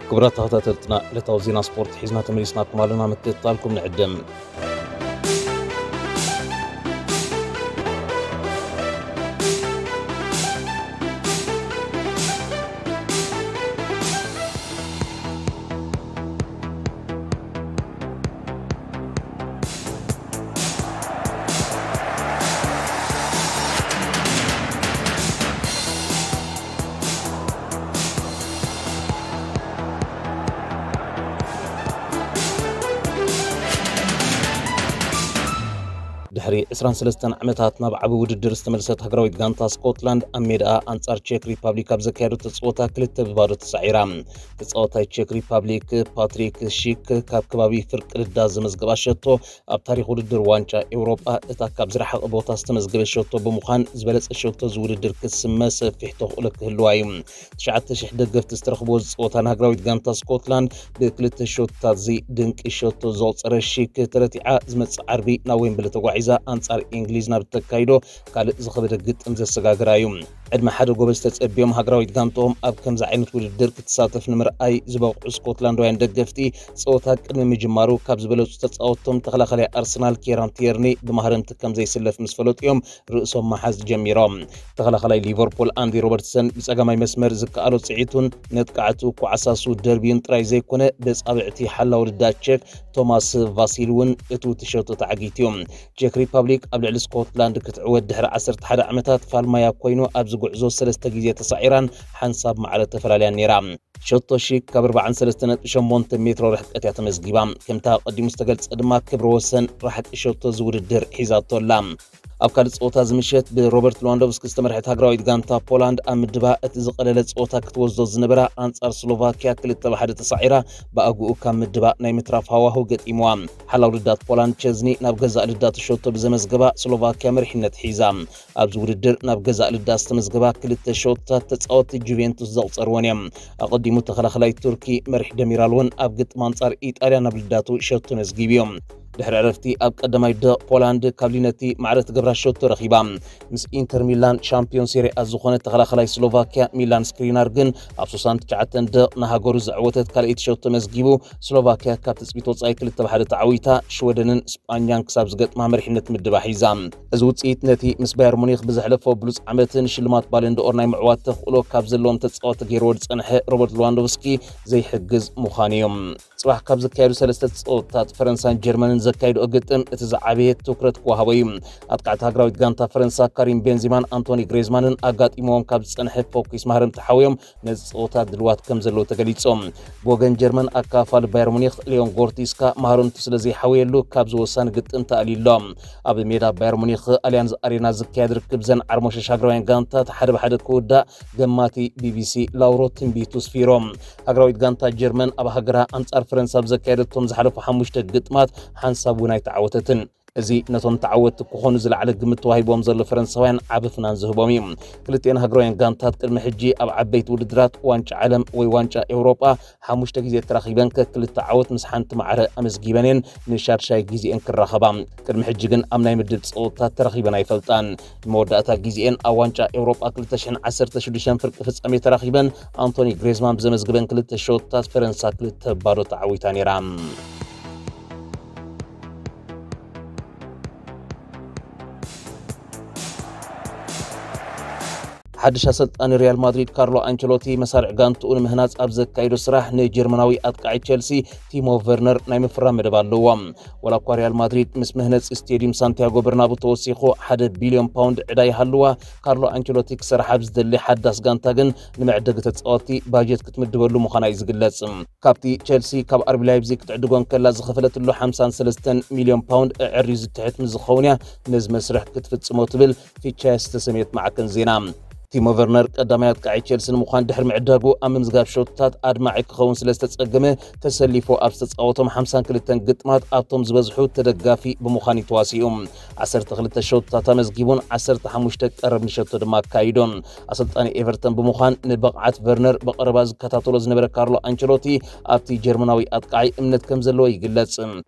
ክቡራት ተኸታተልትና፣ ዕለታዊ ዜና ስፖርት ሒዝና ተመሊስናኩም ኣለና። ምክትታልኩም ንዕድም። ድሕሪ ዕስራን ሰለስተን ዓመታት ናብ ዓቢ ውድድር ዝተመልሰት ሃገራዊት ጋንታ ስኮትላንድ፣ ኣብ ሜዳኣ ኣንጻር ቼክ ሪፓብሊክ ኣብ ዘካየደቶ ጸወታ ክልተ ብባዶ ተሳዒራ። ተጻዋታይ ቼክ ሪፓብሊክ ፓትሪክ ሺክ ካብ ከባቢ ፍርቂ ልዳ ዘመዝገባ ሸቶ ኣብ ታሪኽ ውድድር ዋንጫ ኤውሮጳ እታ ካብ ዝረሓቐ ቦታ ዝተመዝገበ ሸቶ ብምዃን፣ ዝበለጸ ሸቶ እዚ ውድድር ክስመ ሰፊሕ ተኽእሎ ክህልዋ እዩ። ትሽዓተ ሽሕ ደገፍቲ ዝተረኽብዎ ዝጸወታ ንሃገራዊት ጋንታ ስኮትላንድ ብክልተ ሸቶታት እዚ ድንቂ ሸቶ ዘቑጸረ ሺክ ተረቲዓ፣ ዝመጽእ ዓርቢ ናብ ዌምብሊ ተጓዒዛ ኣንጻር እንግሊዝ ናብ እተካይዶ ካልእ ዝኸበደ ግጥም ዘሰጋግራ እዩ። ዕድመ ሓደ ጎበዝ ተጸብዮም ሃገራዊት ጋንትኦም ኣብ ከምዚ ዓይነት ውድድር ክትሳተፍ ንምርኣይ ዝበቕዑ ስኮትላንዳውያን ደገፍቲ፣ ጸወታ ቅድሚ ምጅማሩ ካብ ዝበለጹ ተጻወትቶም ተኸላኻላይ ኣርሰናል ኬራን ቲየርኒ ብማህረምቲ ከም ዘይስለፍ ምስ ፈለጡ እዮም ርእሶም መሓዝ ጀሚሮም። ተኸላኻላይ ሊቨርፑል ኣንዲ ሮበርትሰን ብጸጋማይ መስመር ዝከኣሎ ጽዒቱን ነጥቃዕቱ ኳዕሳሱ ደርቢዩን ጥራይ ዘይኮነ፣ በጻብዕቲ ሓላው ልዳ ቼክ ቶማስ ቫሲል እውን እትውቲ ሸቶ ተዓጊቱ እዩ። ቼክ ሪፓብሊክ ኣብ ልዕሊ ስኮትላንድ ክትዕወት ድሕሪ ዓሰርተ ሓደ ዓመታት ፋልማያ ኮይኑ፣ ኣብዚ ጉዕዞ ሰለስተ ግዜ ተሳዒራን ሓንሳብ ማዕረ ተፈላልያን ነይራ። ሸቶ ሺክ ካብ ኣርባዓን ሰለስተ ነጥቢ ሸሞንተ ሜትሮ ርሕቀት እያ ተመዝጊባ። ከምቲ ኣቐዲሙ ዝተገልጸ ድማ፣ ክብረ ወሰን ራሕቂ ሸቶ እዚ ውድድር ሒዛቶ ኣላ። ኣብ ካልእ ጸወታ እዚ ምሸት ብሮበርት ሌዋንዶቭስኪ ዝተመርሐት ሃገራዊት ጋንታ ፖላንድ ኣብ ምድባ እቲ ዝቐለለ ጸወታ ክትወስዶ ዝነበራ ኣንጻር ስሎቫኪያ ክልተ ብ ሓደ ተሳዒራ፣ ብኣግኡ ካብ ምድባ ናይ ምትራፍ ሃዋህው ገጢምዋ። ሓላው ልዳት ፖላንድ ቸዝኒ ናብ ገዛእ ልዳቱ ሸቶ ብዘመዝገባ ስሎቫኪያ መሪሕነት ሒዛ። ኣብዚ ውድድር ናብ ገዛእ ልዳት ዝተመዝገባ ክልተ ሸቶታት ተጻወትቲ ጁቬንቱስ ዘቑጸርወን እዮም። ኣቐዲሙ ተኸላኸላይ ቱርኪ መሪሕ ደሚራል እውን ኣብ ግጥም ኣንጻር ኢጣልያ ናብ ልዳቱ ሸቶ መዝጊቡ እዩ። ድሕሪ ዕረፍቲ ኣብ ቀዳማይ ደቕ ፖላንድ ካብ ሊነቲ ማዕረ ትገብራ ሸቶ ረኺባ። ምስ ኢንተር ሚላን ሻምፒዮን ሴሪኣ ዝኾነ ተኸላኸላይ ስሎቫኪያ ሚላን ስክሪናር ግን ኣብ ሱሳን ትሽዓተን ደቕ ንሃገሩ ዘዕወተት ካልኣይቲ ሸቶ መዝጊቡ፣ ስሎቫኪያ ካብ ትጽቢት ወጻኢ ክልተ ብ ሓደ ተዓዊታ፣ ሽወደንን ስጳኛን ክሳብ ዝገጥማ መሪሕነት ምድባ ሒዛ። እዚ ውጽኢት ነቲ ምስ ባየር ሙኒክ ብዘሕለፎ ብሉጽ ዓመትን ሽልማት ባለንድኦር ናይ ምዕዋት ተኽእሎ ካብ ዘለዎም ተጻወቲ ገይርዎ ዝጸንሐ ሮበርት ሌዋንዶቭስኪ ዘይሕግዝ ምዃኑ እዩ። ጽባሕ ካብ ዝካየዱ ሰለስተ ጸወታታት ፈረንሳን ጀርመንን ዘካይድኦ ግጥም እቲ ዝዓበየ ትኩረት ክወሃቦ እዩ። ኣጥቃዕቲ ሃገራዊት ጋንታ ፈረንሳ ካሪም ቤንዚማን ኣንቶኒ ግሬዝማንን ኣጋጢሞዎም ካብ ዝጸንሐ ፎኪስ ማህረምቲ ሓውዮም ነዚ ጸወታ ድልዋት ከም ዘለዉ ተገሊጾም። ብወገን ጀርመን ኣካፋሊ ባየር ሙኒክ ሊዮን ጎርቲስካ ማህረምቱ ስለ ዘይሓወየሉ ካብዚ ወሳኒ ግጥም ተኣልዩ ኣሎ። ኣብ ሜዳ ባየር ሙኒክ ኣሊያንዝ ኣሬና ዝካየድ ርክብ ዘን ዓርሞሸሽ ሃገራውያን ጋንታት ሓደ ብሓደ ክውዳእ ገማቲ ቢቢሲ ላውሮ ትንቢቱ ስፊሮም። ሃገራዊት ጋንታ ጀርመን ኣብ ሃገራ ኣንጻር ፈረንሳ ኣብ ዘካየደቶም ዝሓለፉ ሓሙሽተ ግጥማት ሓንሳብ እውን ኣይተዓወተትን። እዚ ነቶም ተዓወትቲ ክኾኑ ዝለዓለ ግምት ተዋሂቦም ዘሎ ፈረንሳውያን ዓቢ ፍናን ዝህቦም እዩ። ክልቲኤን ሃገራውያን ጋንታት ቅድሚ ሕጂ ኣብ ዓበይቲ ውድድራት ዋንጫ ዓለም ወይ ዋንጫ ኤውሮጳ ሓሙሽተ ግዜ ተራኺበን ከክልተ ዓወት ምስ ሓንቲ ማዕረ ኣመዝጊበን እየን ንሻድሻይ ግዜኤን ክራኸባ። ቅድሚ ሕጂ ግን ኣብ ናይ ምድብ ጸወታ ተራኺበን ኣይፈልጣን። ንመወዳእታ ግዜኤን ኣብ ዋንጫ ኤውሮጳ ክልተ ሽሕን ዓሰርተ ሽዱሽተን ፍርቂ ፍጻሜ ተራኺበን ኣንቶኒ ግሬዝማን ብዘመዝግበን ክልተ ሸቶታት ፈረንሳ ክልተ ባዶ ተዓዊታ ነይራ። ሓድሽ ኣሰልጣኒ ሪያል ማድሪድ ካርሎ ኣንቸሎቲ መሳርዕ ጋንትኡ ንምህናጽ ኣብ ዘካየዶ ስራሕ ንጀርመናዊ ኣጥቃዒ ቸልሲ ቲሞ ቨርነር ናይ ምፍራም መደብ ኣለዎ። ወላ እኳ ሪያል ማድሪድ ምስ መህነጺ ስቴዲየም ሳንቲያጎ በርናቡ ተወሲኹ ሓደ ቢልዮን ፓውንድ ዕዳ ይሃልዋ፣ ካርሎ ኣንቸሎቲ ክሰርሓ ኣብ ዝደሊ ሓዳስ ጋንታ ግን ንመዕደጊ ተጻወትቲ ባጀት ክትምድበሉ ምዃና እዩ ዝግለጽ። ካብቲ ቸልሲ ካብ ኣርቢ ላይፕዚግ ክትዕድጎ እንከላ ዝኸፈለትሉ ሓምሳን ሰለስተን ሚልዮን ፓውንድ ኣዐርዩ ዝትሕት ምስ ዝኸውን እያ ነዚ መስርሕ ክትፍጽሞ ትብል ፊቻ ዝተሰምየት ማዕከን ዜና። ቲሞ ቨርነር ቀዳማይ ኣጥቃዒ ቸልሲ ንምዃን ድሕሪ ምዕዳጉ ኣብ ምምዝጋብ ሸቶታት ኣድማዒ ክኸውን ስለ ዝተጸገመ ተሰሊፉ ኣብ ዝተጻወቶም ሓምሳን ክልተን ግጥማት ኣብቶም ዝበዝሑ ተደጋፊ ብምዃን እዩ ተዋሲኡ። ዓሰርተ ክልተ ሸቶታት ኣመዝጊቡን ዓሰርተ ሓሙሽተ ቀረብ ንሸቶ ድማ ኣካይዶን። ኣሰልጣኒ ኤቨርተን ብምዃን ንብቕዓት ቨርነር ብቐረባ ዝከታተሎ ዝነበረ ካርሎ ኣንቸሎቲ ኣብቲ ጀርመናዊ ኣጥቃዒ እምነት ከም ዘለዎ ይግለጽ።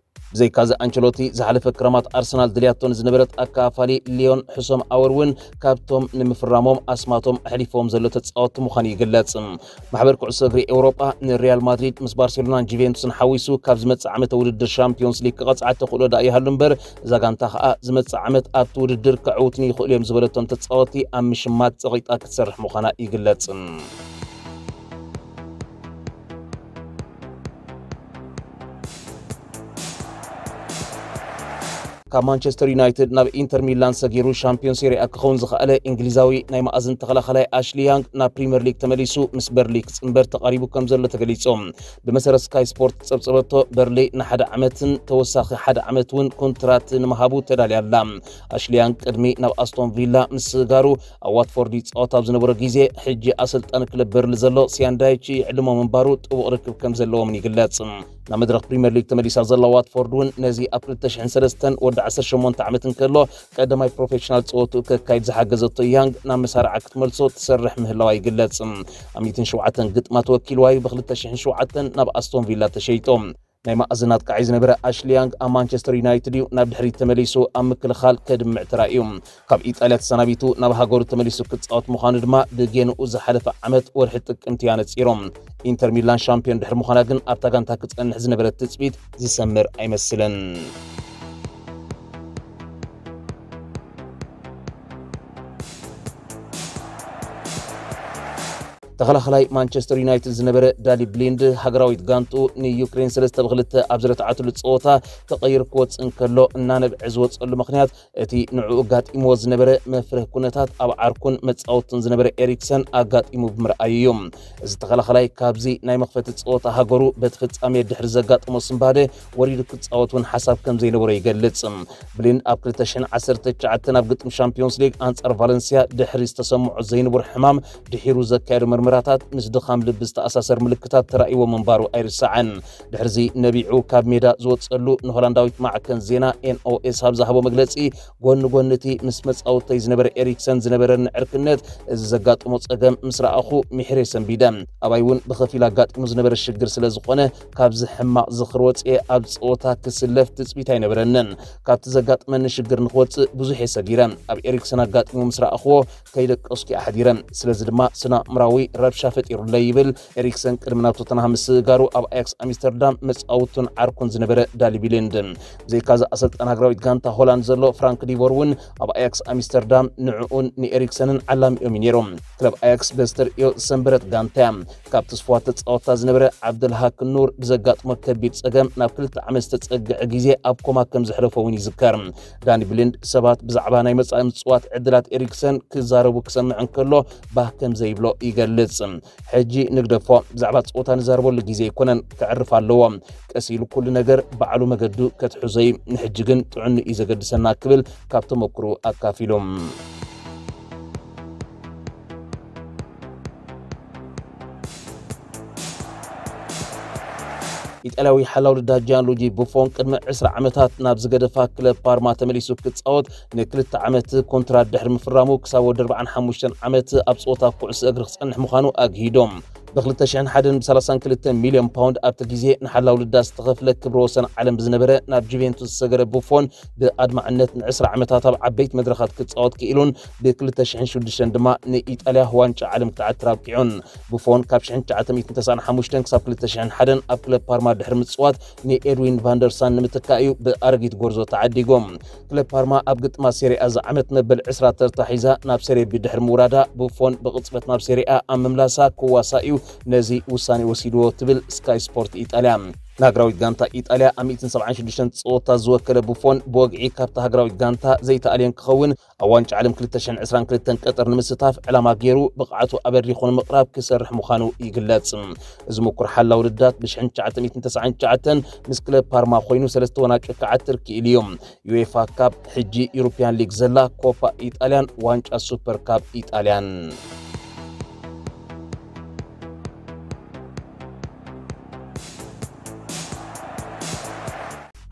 ብዘይካዚ ኣንቸሎቲ ዝሓለፈ ክረማት ኣርሰናል ድልያቶ ንዝነበረት ኣካፋሊ ሊዮን ሕሶም ኣወር እውን ካብቶም ንምፍራሞም ኣስማ ማቶም ኣሕሊፎም ዘሎ ተጻወትቲ ምዃኑ ይግለጽ። ማሕበር ኩዕሶ እግሪ ኤውሮጳ ንሪያል ማድሪድ ምስ ባርሴሎናን ጁቬንቱስን ሓዊሱ ካብ ዝመጽእ ዓመተ ውድድር ሻምፒዮንስ ሊግ ክቐጽዓ ተኽእሎ ደኣ ይሃሉ እምበር፣ እዛ ጋንታ ከኣ ዝመጽእ ዓመት ኣብቲ ውድድር ክዕውትኒ ይኽእሉ እዮም ዝበለቶም ተጻወትቲ ኣብ ምሽማት ጸቒጣ ክትሰርሕ ምዃና ይግለጽ። ካብ ማንቸስተር ዩናይትድ ናብ ኢንተር ሚላን ሰጊሩ ሻምፒዮን ሴሪኣ ክኸውን ዝኸኣለ እንግሊዛዊ ናይ መኣዝን ተኸላኸላይ ኣሽሊ ያንግ ናብ ፕሪምየር ሊግ ተመሊሱ ምስ በርሊ ክጽንበር ተቓሪቡ ከም ዘሎ ተገሊጹ። ብመሰረት ስካይ ስፖርት ዝጸብጸበቶ፣ በርሊ ንሓደ ዓመትን ተወሳኺ ሓደ ዓመት እውን ኮንትራት ንምሃቡ ተዳልያ ኣላ። ኣሽሊ ያንግ ቅድሚ ናብ ኣስቶን ቪላ ምስጋሩ ኣብ ዋትፎርድ ይጻወት ኣብ ዝነበሮ ግዜ፣ ሕጂ ኣሰልጣኒ ክለብ በርሊ ዘሎ ሲያን ዳይች ይዕልሞ ምንባሩ ጥቡቕ ርክብ ከም ዘለዎምን ይግለጽ። ናብ መድረኽ ፕሪምየር ሊግ ተመሊሳ ዘላ ዋትፎርድ እውን ነዚ ኣብ ክልተ ሽሕን ሰለስተን ወዲ ዓሰርተ ሸሞንተ ዓመት እንከሎ ቀዳማይ ፕሮፌሽናል ጸወትኡ ከካይድ ዝሓገዘቶ ያንግ ናብ መሳርዓ ክትመልሶ ትሰርሕ ምህላዋ ይግለጽ። ኣብ ሚእትን ሸውዓተን ግጥማት ወኪልዋ እዩ ብ ክልተ ሽሕን ሸውዓተን ናብ ኣስቶን ቪላ ተሸይጡ። ናይ መኣዝን ኣጥቃዒ ዝነበረ ኣሽሊ ያንግ ኣብ ማንቸስተር ዩናይትድ እዩ ናብ ድሕሪት ተመሊሱ ኣብ ምክልኻል ከድምዕ ተራእዩ። ካብ ኢጣልያ ተሰናቢቱ ናብ ሃገሩ ተመሊሱ ክጻወት ምዃኑ ድማ ብጌንኡ ዝሓለፈ ዓመት ወርሒ ጥቅምቲ ኣነጺሮም። ኢንተር ሚላን ሻምፒዮን ድሕሪ ምዃና ግን ኣብታ ጋንታ ክጸንሕ ዝነበረ ትጽቢት ዝሰምር ኣይመስልን። ተኸላኸላይ ማንቸስተር ዩናይትድ ዝነበረ ዳሊ ብሊንድ ሃገራዊት ጋንቱ ንዩክሬን ሰለስተ ብ ክልተ ኣብ ዝረትዓትሉ ጸወታ ተቐይሩ ክወጽእ እንከሎ እናነብዐ ዝወጸሉ ምኽንያት እቲ ንዕኡ ኣጋጢምዎ ዝነበረ መፍርህ ኩነታት ኣብ ዓርኩን መጻወቱን ዝነበረ ኤሪክሰን ኣጋጢሙ ብምርኣዩ እዩ። እዚ ተኸላኸላይ ካብዚ ናይ መኽፈቲ ጸወታ ሃገሩ በቲ ፍጻሜ ድሕሪ ዘጋጠሞ ስንባደ ወሪዱ ክጻወት እውን ሓሳብ ከም ዘይነበሮ ይገልጽ። ብሊንድ ኣብ ክልተ ሽሕን ዓሰርተ ትሽዓተን ኣብ ግጥም ሻምፒዮንስ ሊግ ኣንጻር ቫለንሲያ ድሕሪ ዝተሰምዖ ዘይንቡር ሕማም ድሒሩ ዘካየዶ ምርመራታት ምስ ድኻም ልቢ ዝተኣሳሰር ምልክታት ተራእይዎ ምንባሩ ኣይርሳዕን። ድሕርዚ ነቢዑ ካብ ሜዳ ዝወጸሉ ንሆላንዳዊት ማዕከን ዜና ኤንኦኤስ ኣብ ዝሃቦ መግለጺ፣ ጎኒ ጎኒ እቲ ምስ መጻወተይ ዝነበረ ኤሪክሰን ዝነበረኒ ዕርክነት፣ እዚ ዘጋጥሞ ጸገም ምስ ረኣኹ ምሒረ ሰንቢደ። ኣባይ እውን ብኸፊል ኣጋጢሙ ዝነበረ ሽግር ስለ ዝኾነ፣ ካብዚ ሕማቕ ዝኽሪ ወጽኤ ኣብ ጸወታ ክስለፍ ትጽቢት ኣይነበረንን። ካብቲ ዘጋጥመኒ ሽግር ንኽወጽእ ብዙሕ እየ ሰጊረ። ኣብ ኤሪክሰን ኣጋጢሙ ምስ ረኣኽዎ ከይደቀስኩ እየ ሓዲረ። ስለዚ ድማ ስነ-ኣእምራዊ ረብሻ ፈጢሩለይ ይብል ኤሪክሰን ቅድሚ ናብ ቶተንሃም ምስግጋሩ ኣብ ኣያክስ ኣምስተርዳም መጻውቱን ዓርኩን ዝነበረ ዳሊ ቢሊንድ። ብዘይካዚ ኣሰልጣን ሃገራዊት ጋንታ ሆላንድ ዘሎ ፍራንክ ዲቮር እውን ኣብ ኣያክስ ኣምስተርዳም ንዕኡን ንኤሪክሰንን ዓላሚኦም እዩ ነይሮም። ክለብ ኣያክስ በዚ ተርእዮ ዝሰንበረት ጋንታ እያ። ካብ ትስፉዋት ተጻወትታ ዝነበረ ዓብደልሃክ ኑር ብዘጋጥሞ ከቢድ ጸገም ናብ ክልተ ዓመት ዝተጸግዐ ግዜ ኣብ ኮማ ከም ዘሕለፎ እውን ይዝከር። ዳኒ ብሊንድ ሰባት ብዛዕባ ናይ መጻኢ ምጽዋት ዕድላት ኤሪክሰን ክዛረቡ ክሰምዕ እንከሎ ባህ ከም ዘይብሎ ይገልጽ። ሕጂ ንግደፎ፣ ብዛዕባ ጸወታ ንዛረበሉ ግዜ ኣይኮነን፣ ከዕርፍ ኣለዎ። ቀስ ኢሉ ኩሉ ነገር ባዕሉ መገዱ ከትሕዞ እዩ። ንሕጂ ግን ጥዕኑ እዩ ዘገድሰና ክብል ካብ ተመክሮ ኣካፊሉ። ኢጣልያዊ ሓላው ልዳ ጂያንሉጂ ቡፎን ቅድሚ ዕስራ ዓመታት ናብ ዝገደፋ ክለብ ፓርማ ተመሊሱ ክጻወት ንክልተ ዓመት ኮንትራት ድሕሪ ምፍራሙ ክሳብ ወዲ ኣርባዓን ሓሙሽተን ዓመት ኣብ ጸወታ ኩዕሶ እግሪ ክጸንሕ ምዃኑ ኣግሂዶም። ብ ክልተ ሽሕን ሓደን ብ ሰላሳን ክልተን ሚልዮን ፓውንድ ኣብቲ ግዜ ንሓላው ልዳ ዝተኸፍለ ክብረ ወሰን ዓለም ብዝነበረ ናብ ጁቬንቱስ ዝሰገረ ቡፎን ብኣድማዕነት ንዕስራ ዓመታት ኣብ ዓበይቲ መድረኻት ክጻወት ክኢሉን ብ ክልተ ሽሕን ሽዱሽተን ድማ ንኢጣልያ ዋንጫ ዓለም ክትዓትር ኣብቂዑን። ቡፎን ካብ ሽሕን ትሽዓተ ሚእትን ተስዓን ሓሙሽተን ክሳብ ክልተ ሽሕን ሓደን ኣብ ክለብ ፓርማ ድሕሪ ምጽዋት ንኤድዊን ቫንደርሳን ንምትካእ እዩ ብኣረጊት ጎርዞ ተዓዲጎም። ክለብ ፓርማ ኣብ ግጥማት ሴሪኣ እዚ ዓመት መበል ዕስራ ተርታ ሒዛ ናብ ሴሪ ቢ ድሕሪ ምውራዳ ቡፎን ብቕጽበት ናብ ሴሪኣ ኣብ ምምላሳ ክዋሳ እዩ ነዚ ውሳኔ ወሲድዎ ትብል ስካይ ስፖርት ኢጣልያ። ንሃገራዊት ጋንታ ኢጣልያ ኣብ ሚእትን ሰብዓን ሽዱሽተን ጸወታ ዝወከለ ቡፎን ብወግዒ ካብታ ሃገራዊት ጋንታ ዘይተኣልየ ክኸውን ኣብ ዋንጫ ዓለም ክልተ ሽሕን ዕስራን ክልተን ቀጠር ንምስታፍ ዕላማ ገይሩ ብቕዓቱ ኣበሪኹ ንምቕራብ ክሰርሕ ምዃኑ ይግለጽ። እዚ ምኩር ሓላው ልዳት ብ ሽሕን ትሽዓተ ሚእትን ተስዓን ትሽዓተን ምስ ክለብ ፓርማ ኮይኑ ሰለስተ ዋንጫ ክዓትር ክኢሉ እዩ። ዩኤፋ ካፕ፣ ሕጂ ዩሮፕያን ሊግ ዘላ ኮፓ ኢጣልያን ዋንጫ ሱፐር ካፕ ኢጣልያን።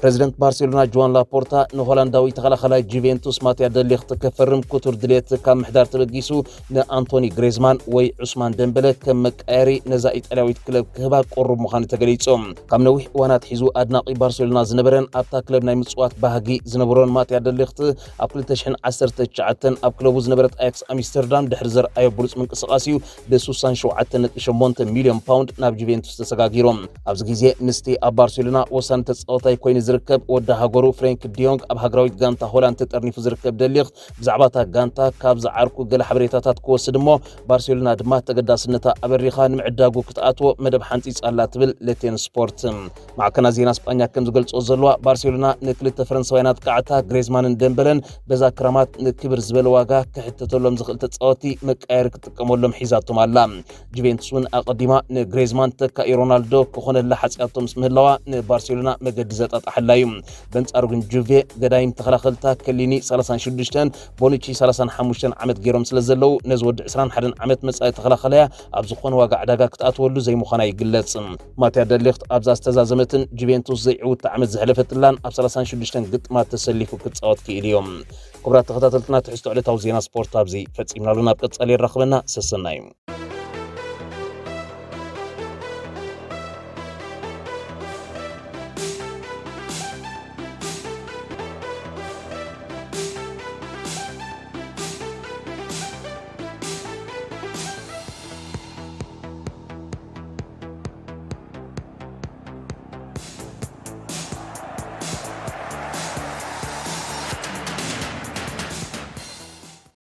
ፕሬዚደንት ባርሴሎና ጆዋን ላፖርታ ንሆላንዳዊ ተኸላኸላይ ጁቬንቱስ ማትያ ደሊኽት ከፈርም ክቱር ድሌት ካብ ምሕዳር ተበጊሱ፣ ንኣንቶኒ ግሬዝማን ወይ ዑስማን ደምበለ ከም መቃየሪ ነዛ ኢጣልያዊት ክለብ ክህባ ቅሩብ ምዃኑ ተገሊጹ። ካብ ነዊሕ እዋናት ሒዙ ኣድናቂ ባርሴሎና ዝነበረን ኣብታ ክለብ ናይ ምጽዋት ባህጊ ዝነበሮን ማትያ ደሊኽት፣ ኣብ ክልተ ሽሕን ዓሰርተ ትሽዓተን ኣብ ክለቡ ዝነበረት ኣያክስ ኣምስተርዳም ድሕሪ ዘርኣዮ ብሉጽ ምንቅስቓስ እዩ ብ ሱሳን ሸውዓተ ነጥቢ ሸሞንተ ሚልዮን ፓውንድ ናብ ጁቬንቱስ ተሰጋጊሩ። ኣብዚ ግዜ ምስቲ ኣብ ባርሴሎና ወሳኒ ተጻዋታይ ኮይኑ ዝርከብ ወዲ ሃገሩ ፍሬንክ ዲዮንግ ኣብ ሃገራዊት ጋንታ ሆላንድ ተጠርኒፉ ዝርከብ ደሊኽት፣ ብዛዕባ እታ ጋንታ ካብ ዝዓርኩ ገለ ሓበሬታታት ክወስድ እሞ፣ ባርሴሎና ድማ ተገዳስነታ ኣበሪኻ ንምዕዳጉ ክትኣትዎ መደብ ሓንጺጻ ኣላ ትብል ሌቴን ስፖርት። ማዕከናት ዜና ስጳኛ ከም ዝገልጾ ዘለዋ፣ ባርሴሎና ንክልተ ፈረንሳውያን ኣጥቃዕታ ግሬዝማንን ደምበለን በዛ ክራማት ንክብር ዝበለ ዋጋ ክሕተተሎም ዝኽእል ተጻወቲ መቃየሪ ክትጥቀመሎም ሒዛቶም ኣላ። ጁቬንቱስ እውን ኣቐዲማ ንግሬዝማን ተካኢ ሮናልዶ ክኾነላ ሓጺኣቶ ምስ ምህላዋ፣ ንባርሴሎና መገዲ ዘጣጣሓላ እዩ። በንጻሩ ግን ጁቬ ገዳይም ተኸላኸልታ ከሊኒ ሰላሳን ሽዱሽተን፣ ቦኑቺ ሰላሳን ሓሙሽተን ዓመት ገይሮም ስለ ዘለዉ፣ ነዚ ወዲ ዕስራን ሓደን ዓመት መጻኢ ተኸላኸላያ ኣብ ዝኾነ ዋጋ ዕዳጋ ክትኣትወሉ ዘይምዃና ይግለጽ። ማትያ ደሊኽት ኣብዛ ዝተዛዘመትን ጁቬንቱስ ዘይዕውታ ዓመት ዘሕለፈትላን ኣብ ሰላሳን ሽዱሽተን ግጥማት ተሰሊፉ ክጻወት ክኢሉ እዩ። ክቡራት ተኸታተልትና፣ ትሕዝቶ ዕለታዊ ዜና ስፖርት ኣብዚ ፈጺምናሉ። ናብ ቀጻሊ የራኽበና። ሰሰናዩ።